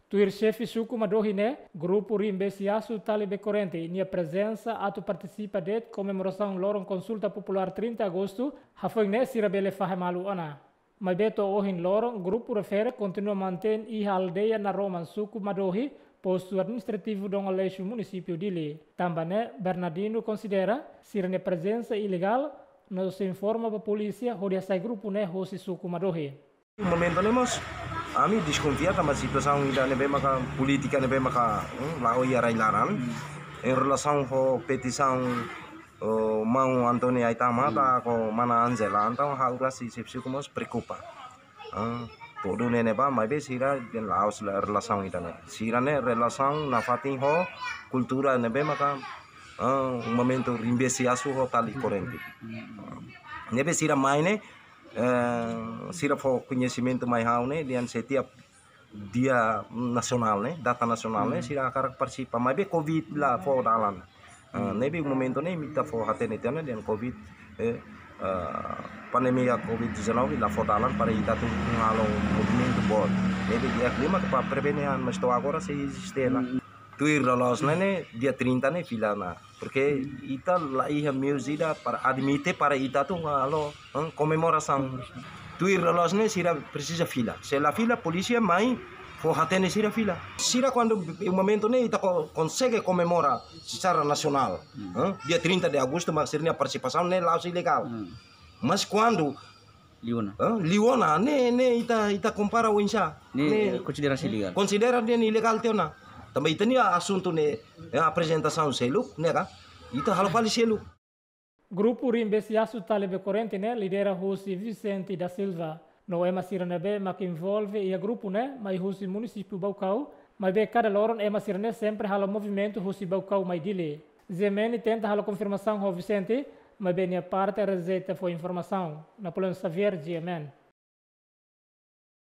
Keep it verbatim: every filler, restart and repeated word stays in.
Tuir xefe suku Madohi ne'e, grupu Rimbesi Asu Tali Be Korrente nia prezensa atu partisipa de'it komemorasaun loron konsulta populár trinta Agostu, hafoin ne'e sira bele fahe malu ona. Maibé to'o ohin loron, grupu refere kontinua mantein iha aldeia Naroman, suku Madohi, postu administrativu Dom Aleixo, munisípiu Dili. Tanba ne'e, Bernardino konsidera sira-nia prezensa ilegál, no sei informa ba polísia hodi hasai grupu ne'e hosi suku Madohi. Momentu ne'e mós, ami deskonfia tanba situasaun ida ne'ebé maka polítika ne'ebé maka, hmm, la'o iha rai-laran. Em relasaun ho petisaun, oh, maun António Aitama, hmm, ka mana Ângela, entaun ha'u rasik xefe suku mós preokupa. Ah, tuir ne'e ne'ebá, maibé sira dehan la'ós relasaun ida ne'e. Sira-ne'e relasaun nafatin ho kultura ne'ebé maka, ah, momentu Rimbesi Asu ho Tali Korrente. Ne'ebé sira mai ne'e, eh, sira fó koñesimentu mai ha'u ne'e, dehan setiap dia nasionál ne'e, data nasionál ne'e, hmm, sira hakarak partisipa. Maibé covid la fó dalan. Ah, hmm, ne'ebé momentu ne'e ita fó hatene tiha ona dehan covid, eh, ah, pandemia covid dezanove la fó dalan para ita atu halo movimentu boot. Ne'ebé di'ak liu mak para prevene an, mas to'o agora sei eziste ona. Hmm. Tuir loloos ne'e, ne'e, dia trinta ne'e fila ona. Porke ita la iha meius ida para admite para ita atu halo, hmm, komemorasaun. Tuir loloos ne'e sira presiza fila. Se la fila, polísia mai fó hatene sira fila. Sira kuandu momentu ne'e ita ko-, konsege komemora secara nasionál. Hmm. Hmm? Dia trinta de agostu, mas sira-nia partisipasaun ne'e la'ós ilegál. Hmm. Mas kuandu liu ona. Hã? Liu ona, ne'e, ne'e ita, ita kompara oinsá. Ne'e, ne'e konsidera ilegál. Konsidera dehan ilegál tiha ona. Tanba ita-nia asuntu ne'e, eh, aprezentasaun seluk, ne'e ka? Ita halo fali seluk. Grupu Rimbesi Asu Tali Be Korrente ne'e lidera husi Vicente da Silva. No ema sira ne'ebé mak envolve iha grupu ne'e mai husi munisípiu Baucau, maibé kada loron ema sira ne'e sempre halo movimentu husi Baucau mai Dili. G M N tenta halo konfirmasaun ho Vicente, maibé nia parte rejeita fó informasaun. Napoleão Xavier, G M N.